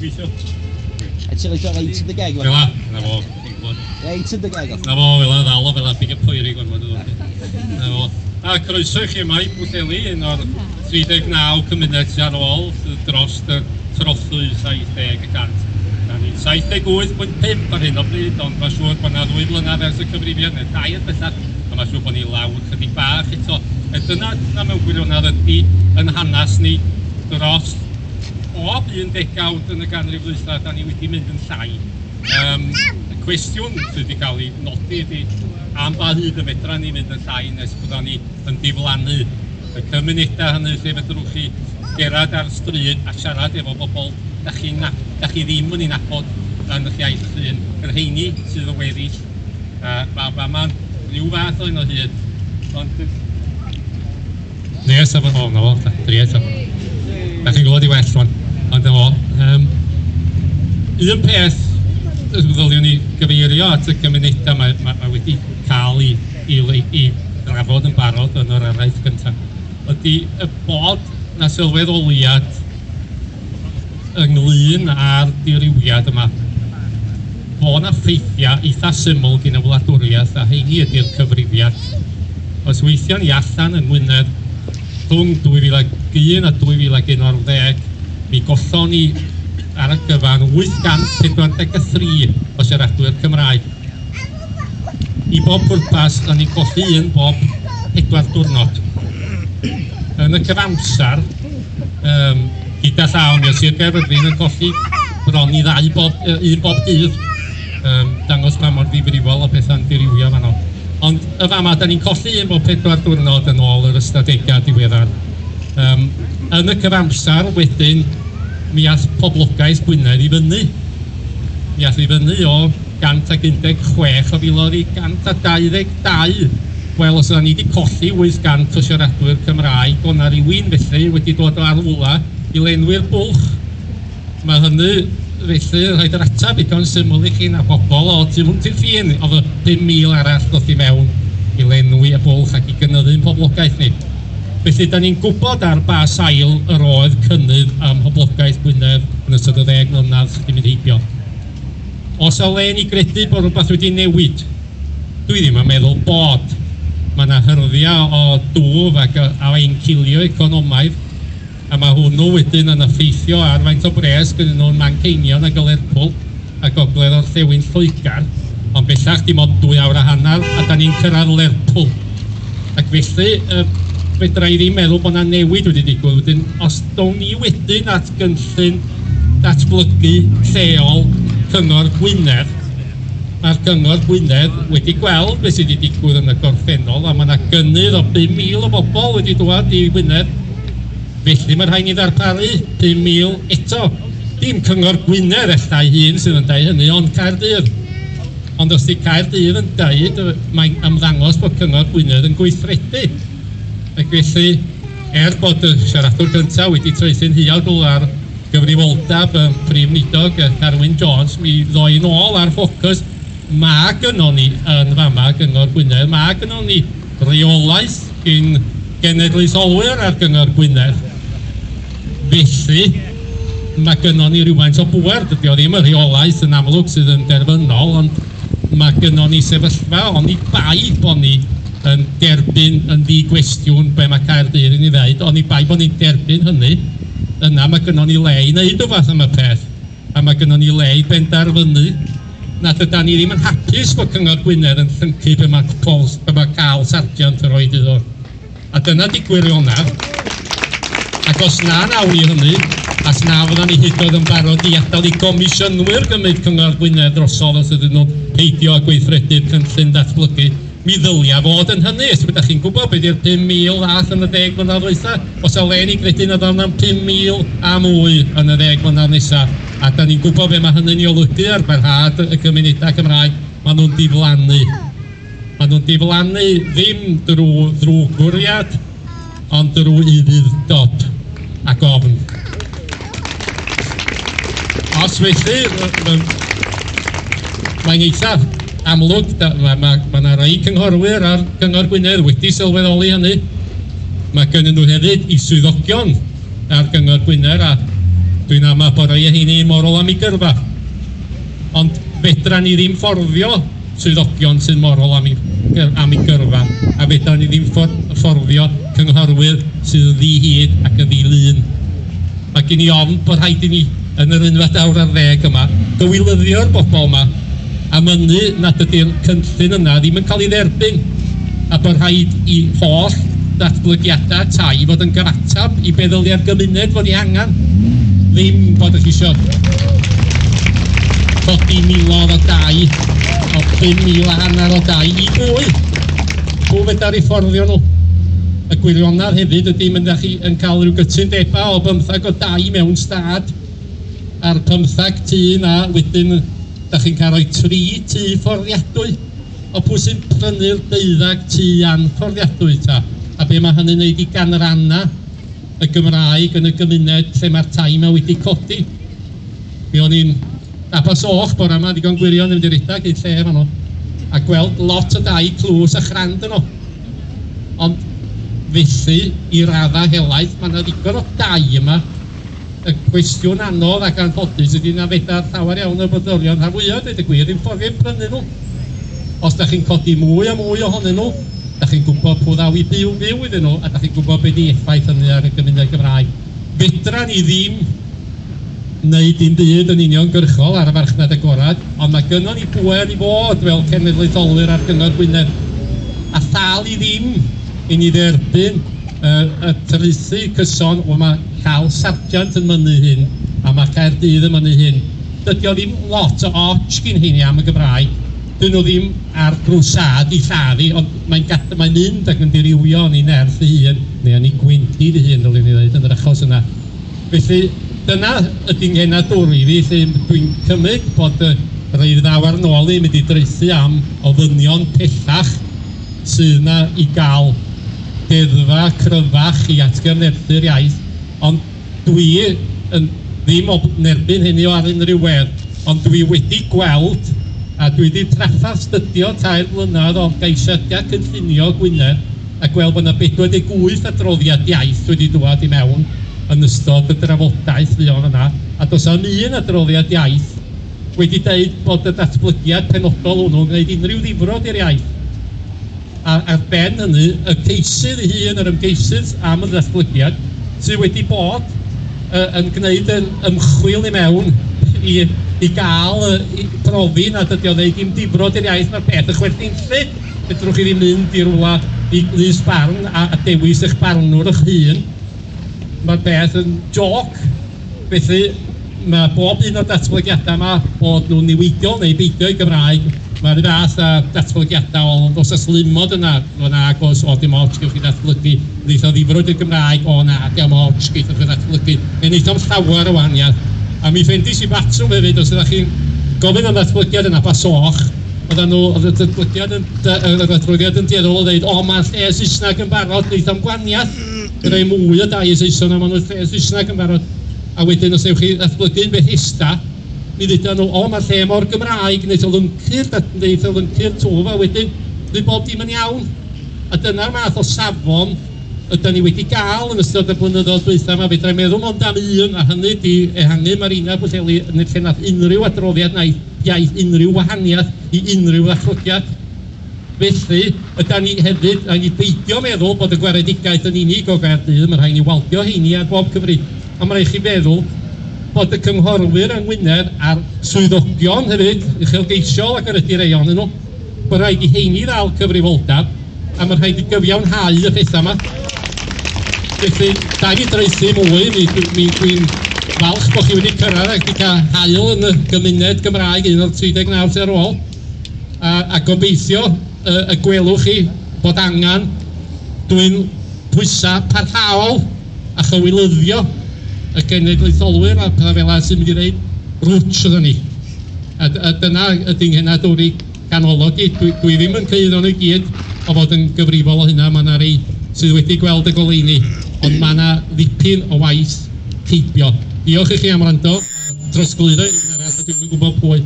Gweithio. A ti'n rhaid o reit yn dy geg? Fel 'na, 'na fo. Ti'n gwbod. Reit yn dy geg. 'Na fo, fel 'na, ddal o fel 'na, pigo poeri gormod o ddod. 'Na fo. A croeso i chi yma i Bwllheli, un o'r 39 cymuned sydd ar ôl dros y trothwy 70%. Da ni'n 78.5 ar hyn o bryd, ond mae'n siŵr bod 'na 2 flynedd ers y cyfrifiad, neu 3 bellach, a mae'n siŵr bod ni lawr chydig bach eto. A dyna mewn gwirionedd ydy yn hanes ni dros bob un degawd yn y ganrif ddwytha, da ni wedi mynd yn llai. Y cwestiwn sydd wedi cael ei nodi ydy am ba hyd y fedra ni mynd yn llai nes bydda ni yn diflannu. Y cymunedau hynny lle fedrwch chi gerdded ar stryd a siarad efo bobl da chi ddim yn ei nabod yn eich iaith eich hun, yr rheini sydd yn weddill. Mae'n rhyw fath o un o hyd. Ond... Nes, o, na fo, dri eto. Da chi'n gwybod i well, rwan. Ond efo, un peth ddylwn ni gyfeirio at y cymunedau mae wedi cael ei drafod yn barod yn yr araith gyntaf, ydy y bod na sylweddoliad ynglyn â'r dirywiad yma. Bod na ffeithiau eitha syml gan y wladwriaeth, a heini ydy'r cyfrifiad. Os weithion ni allan yng Ngwynedd rhwng 2001 a 2011, mi gollon ni ar y gyfan 843 o siaradwyr Cymraeg. I bob pwrpas, da ni'n colli un bob 4 diwrnod. Yn y cyfamser, gyda llaw, mi oedd Sir Gaerfyrddin yn colli bron i 2 bob, un bob dydd, dangos pa mor ddifrifol o pethau'n dirywio fanno. Ond y fama, da ni'n colli un bob 4 diwrnod yn ôl yr ystadegau diweddar. Yn y cyfamser, wedyn, mi ath poblogaeth Gwynedd i fyny. Mi ath i fyny o 116 o filoedd i 122. Wel, os yna ni wedi colli 800 o siaradwyr Cymraeg, o na rywun felly wedi dod o arwla i lenwi'r bwlch. Mae hynny felly yn rhoi'r ateb digon syml i chi na bobl o tu hwnt i'r ffin, oedd y 5,000 arall ddoth i mewn i lenwi y bwlch ac i gynyddu'n poblogaeth ni. Felly, da ni'n gwybod ar ba sail yr oedd cynnydd am poblogaeth Gwynedd yn ystod y 10 mlynedd sydd wedi mynd heibio. Os o le ni gredu bod rhywbeth wedi newid, dwi ddim yn meddwl bod. Mae yna hyrddiau o dwf ac o encilio economaidd, a mae hwnnw wedyn yn effeithio ar faint o bres gyda nhw'n Manceinion ac Lerpwl a gogledd orllewin Lloegr, ond bellach dim ond 2 awr a hanner a da ni'n cyrraedd Lerpwl. Ac felly, fedra i ddim meddwl bod yna newid wedi digwydd. Wedyn, os down ni wedyn at gynllun datblygu lleol Cyngor Gwynedd, mae'r Cyngor Gwynedd wedi gweld beth sydd wedi digwydd yn y gorffennol, a mae yna gynnydd o 5,000 o bobl wedi dod i Wynedd. Felly mae rhaid ni ddarparu 5,000 eto. Dim Cyngor Gwynedd ella ei hun sydd yn deud hynny, ond Caerdydd. Ond os di Caerdydd yn deud, mae'n ymddangos bod Cyngor Gwynedd yn gweithredu. Ac felly, er bod y siaradwr gyntaf wedi traethu'n huawdl ar gyfrifoldeb y Prif Weinidog Carwyn Jones, mi ddoi nôl ar ffocws. Mae gynnon ni yn fama Gyngor Gwynedd, mae gynnon ni reolaeth gyn genedlaetholwyr ar Gyngor Gwynedd. Felly, mae gynnon ni rhywfaint o bŵer. Dydy o ddim y rheolaeth yn amlwg sydd yn derfynol, ond mae gynnon ni sefyllfa, oni bai bod ni yn derbyn yn ddi-gwestiwn be mae Caerdydd yn ei ddeud, oni bai bod ni'n derbyn hynny, yna mae gynnon ni le i wneud rhywbeth am y peth, a mae gynnon ni le i benderfynu nad ydan ni ddim yn hapus bod Cyngor Gwynedd yn llyncu be mae Carl Sargeant yn rhoi iddo. A dyna di gwirionedd. Ac os na nawn ni hynny, as na fyddan ni hyd yn oed yn barod i adael i gomisiynwyr gymryd Cyngor Gwynedd drosodd os ydyn nhw'n peidio â gweithredu'r cynllun datblygu, mi ddylia fod yn hynny. Os ydych chi'n gwybod beth yw'r 5,000 ddath yn y 10 mlynedd dwytha, os o le ni gredu na ddaw na'n 5,000 a mwy yn y 10 mlynedd nesaf. A da ni'n gwybod be mae hynny'n ei olygu ar barhad y cymunedau Cymraeg, maen nhw'n diflannu. Maen nhw'n diflannu ddim drwy ddrwgfwriad, ond drwy ufudd-dod ac ofn. Os felly, mae'n eithaf amlwg, mae yna rai cynghorwyr ar Gyngor Gwynedd wedi sylweddoli hynny. Mae gennyn nhw hefyd i swyddogion ar Gyngor Gwynedd, a Dwi'n ama bod rhai o heini morol am eu gyrfa. Ond fedra ni ddim fforddio swyddogion sy'n morol am eu gyrfa, a fedra ni ddim fforddio cynghorwyr sydd yn ddi-hid ac yn ddi-lun. Mae gen i ofn bod rhaid i ni yn yr unfed awr ar ddeg yma gywilyddio'r bobl yma a mynnu nad ydy'r cynllun yna ddim yn cael ei dderbyn, a bod rhaid i holl ddatblygiadau tai fod yn gyfatab i be ddylia'r gymuned fod ei angen. Ddim bod chi isio codi miloedd o dai, o 5,500 o dai i bwy? Pwy fedar i fforddio nhw? Y gwirionedd hefyd ydy mynd â chi yn cael rhyw gytundebau o 15 o dai mewn stad a'r 15 tŷ na wedyn da chi'n cael rhoi 3 tŷ fforddiadwy. O pwy sy'n prynu'r 12 tŷ anfforddiadwy ta? A be mae hynny'n neud i ganranna y Gymraeg yn y gymuned lle mae'r tai yma wedi codi? Mi o'n i'n Abersoch bore yma, digon gwirion yn mynd i redag i'r lle fanno, a gweld lot o dai tlws a chrand yno. Ond felly, i raddau helaeth, mae yna ddigon o dai yma. Y cwestiwn anodd ac anffodus ydy na fedar llawer iawn o brodorion rhan fwyaf, dweud y gwir, ddim fforddio prynu nhw. Os da chi'n codi mwy a mwy ohonyn nhw, da chi'n gwybod pwy ddaw i byw iddyn nhw, a da chi'n gwybod be di effaith hynny ar y gymuned Gymraeg. Fedra ni ddim wneud dim byd yn uniongyrchol ar y farchnad agorad, ond mae gynnon ni bŵer i fod fel cenedlaetholwyr ar Gyngor Gwynedd. A thal i ddim i ni dderbyn y traethu cyson, o mae Carl Sargeant yn mynnu hyn, a mae Caerdydd yn mynnu hyn. Dydy o ddim lot o och gyn heini am y Gymraeg. Dyn nhw ddim ar grwsad i lladdu, ond mae'n mynd ac yn dirywio yn ei nerth ei hun, neu yn ei gwendid ei hun, dylwn i ddweud, yn yr achos yna. Felly, dyna ydy'n nghenadwri fi, lle dwi'n cymryd bod y rhai ddaw ar nôl i mynd i draethu am ofynion pellach sydd yna i gael deddfa cryfach i atgyfnerthu'r iaith, ond dwi yn ddim o nerbyn hynny o ar unrhyw wedd, ond dwi wedi gweld a dwi wedi trafferth stydio 3 blynedd o geisiadau cynllunio Gwynedd a gweld bod yna 48 adroddiad iaith wedi dŵad i mewn yn ystod y drafodaeth fuon yna, a does am un adroddiad iaith wedi deud bod y datblygiad penodol hwnnw'n gwneud unrhyw ddifrod i'r iaith. A ar ben hynny, y ceisydd ei hun, yr ymgeisydd am y datblygiad, sydd wedi bod yn gwneud yn ymchwil i mewn i gael i profi nad ydy o'n gwneud dim difrod i'r iaith, mae'r peth yn chwerthinllyd. Fedrwch chi ddim mynd i rywle i lys barn a dewis eich barnwr eich hun. Mae'r peth yn joc. Felly mae bob un o'r datblygiadau yma bod nhw'n niweidiol neu beidio i Gymraeg. Mae'r un fath â datblygiadau o dos a slimod yna, o na, agos, o dim ots, gewch chi ddatblygu. Wneith o ddifrod i'r Gymraeg, o na, dim ots, geithoch chi ddatblygu. Neu wneith o'm llawer o wahaniaeth. A mi ffendis i batrwm hefyd, os ydych chi'n gofyn am ddatblygiad yn Abersoch, oedd y datblygiad yn, yr adroddiad yn dueddol o ddeud, o, mae'r lle Saesneg yn barod, wneith o'm gwahaniaeth. Rhoi mwy o dai Saeson a maen nhw'n lle Saesneg yn barod. A wedyn os ewch chi ddatblygu'n Bethesda, mi ddeudan nhw, o, mae'r lle mor Gymraeg, wneith o lyncu'r twf, a wedyn fydd bob dim yn iawn. A dyna'r math o safon ydan ni wedi gael yn ystod y blynyddoedd dwytha yma. Fedra i meddwl mond am un, a hynny di ehangu Marina Pwllheli yn lle nath unrhyw adroddiad na iaith unrhyw wahaniaeth i unrhyw ddatblygiad. Felly, ydan ni hefyd, rhaid ni beidio meddwl bod y gwaredigaeth yn unig o Gaerdydd, mae rhaid ni waldio heini ar bob cyfri. Ond mae rhaid chi feddwl bod y cynghorwyr yng Ngwynedd a'r swyddogion hefyd, uchelgeisiol ac yr ydy rei ohonyn nhw, bod rhaid i heini ddal cyfrifoldeb, a mae rhaid i gyfiawnhau y pethau yma. Felly, da ni draethu mwy, dwi'n falch bod chi wedi cyrraedd ac wedi cael haul yn y gymuned Gymraeg un o'r 39 sydd ar ôl, a gobeithio y gwelwch chi bod angen dwyn pwysau parhaol a chywilyddio y genedlaetholwyr a pethau fel sy'n mynd i ddeud rwtsh oedden ni. A dyna ydy'n nghenadwri ganolog i. Dwi ddim yn cyhuddo nhw i gyd o fod yn gyfrifol o hynna, mae yna rei sydd wedi gweld y goleuni, ond mae yna ddipyn o waith heibio. Diolch i chi am wrando, trosglwyddo i un arall, a dwi'm yn gwybod pwy.